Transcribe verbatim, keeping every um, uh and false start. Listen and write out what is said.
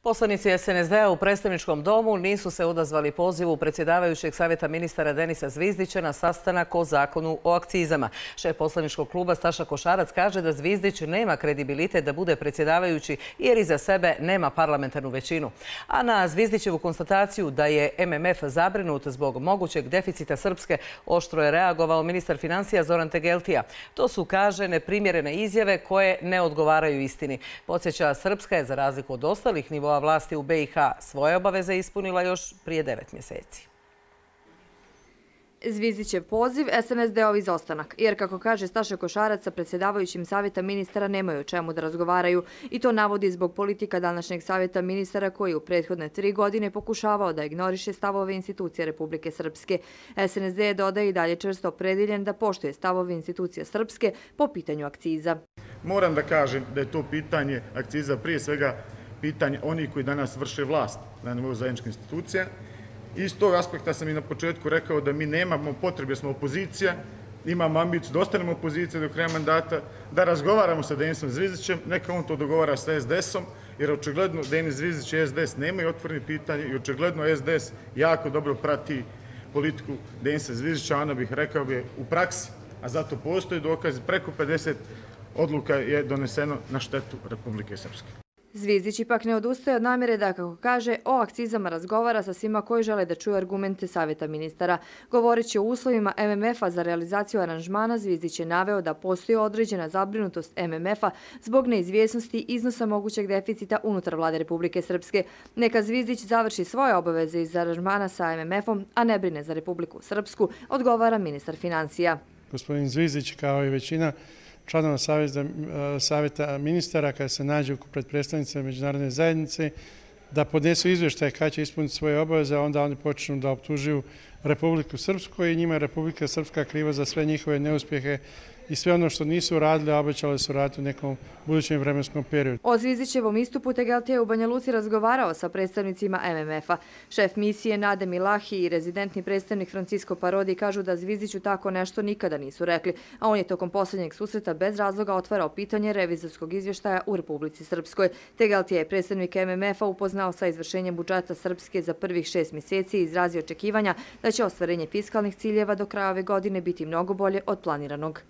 Poslanici S N S D-a u predstavničkom domu nisu se odazvali pozivu predsjedavajućeg savjeta ministara Denisa Zvizdića na sastanak o zakonu o akcizama. Šef poslaničkog kluba Staša Košarac kaže da Zvizdić nema kredibilitet da bude predsjedavajući jer iza sebe nema parlamentarnu većinu. A na Zvizdićevu konstataciju da je M M F zabrinut zbog mogućeg deficita Srpske oštro je reagovao ministar financija Zoran Tegeltija. To su, kaže, neprimjerene izjave koje ne odgovaraju istini. Podsjeća, Srpska je za razliku od ostalih nivoa vlasti u B i H svoje obaveze ispunila još prije devet mjeseci. Zvizdićev poziv, S N S D-ov izostanak, jer kako kaže Staša Košarac, sa predsjedavajućim savjeta ministara nemaju o čemu da razgovaraju i to navodi zbog politika današnjeg savjeta ministara koji u prethodne tri godine pokušavao da ignoriše stavove institucije Republike Srpske. S N S D dodaje i dalje čvrsto opredeljen da poštuje stavove institucije Srpske po pitanju akciza. Moram da kažem da je to pitanje akciza prije svega pitanje onih koji danas vrše vlast na nivou zajedničkih institucija. Iz tog aspekta sam i na početku rekao da mi nemamo potrebe, smo opozicija, imamo ambiciju da ostanemo opozicija do kraja mandata, da razgovaramo sa Denisom Zvizdićem, neka on to dogovara sa S D S-om, jer očigledno Denis Zvizdić i S D S nemaju otvorene pitanje i očigledno S D S jako dobro prati politiku Denisa Zvizdića, ona bih rekao je u praksi, a zato postoji dokaz, preko pedeset odluka je doneseno na štetu Republike Srpske. Zvizdić ipak ne odustaje od namjere da, kako kaže, o akcizama razgovara sa svima koji žele da čuju argumente savjeta ministara. Govoreći o uslovima M M F-a za realizaciju aranžmana, Zvizdić je naveo da postoji određena zabrinutost M M F-a zbog neizvjesnosti iznosa mogućeg deficita unutar vlade Republike Srpske. Neka Zvizdić završi svoje obaveze iz aranžmana sa M M F-om, a ne brine za Republiku Srpsku, odgovara ministar financija. Gospodin Zvizdić, kao i većina članova savjeta ministara, kada se nađu pred predstavnicima međunarodne zajednice, da podnesu izvještaje kada će ispuniti svoje obaveze, a onda oni počnu da optužuju Republiku Srpsku i njima je Republika Srpska kriva za sve njihove neuspjehe i sve ono što nisu radili, a obećali su raditi u nekom budućem vremenskom periodu. O Zvizdićevom istupu Tegeltija je u Banja Luci razgovarao sa predstavnicima M M F-a. Šef misije Nade Milahi i rezidentni predstavnik Francisco Parodi kažu da Zvizdiću tako nešto nikada nisu rekli, a on je tokom posljednjeg susreta bez razloga otvarao pitanje revizorskog izvještaja u Republici Srpskoj. Tegeltija je predstavnik M M F-a upoznao sa izvršenjem budžeta Srpske za prvih šest mjeseci i izrazio očekivanja da će ostvarenje fiskalnih ciljeva do kraja ove godine biti mnogo bolje od planiranog.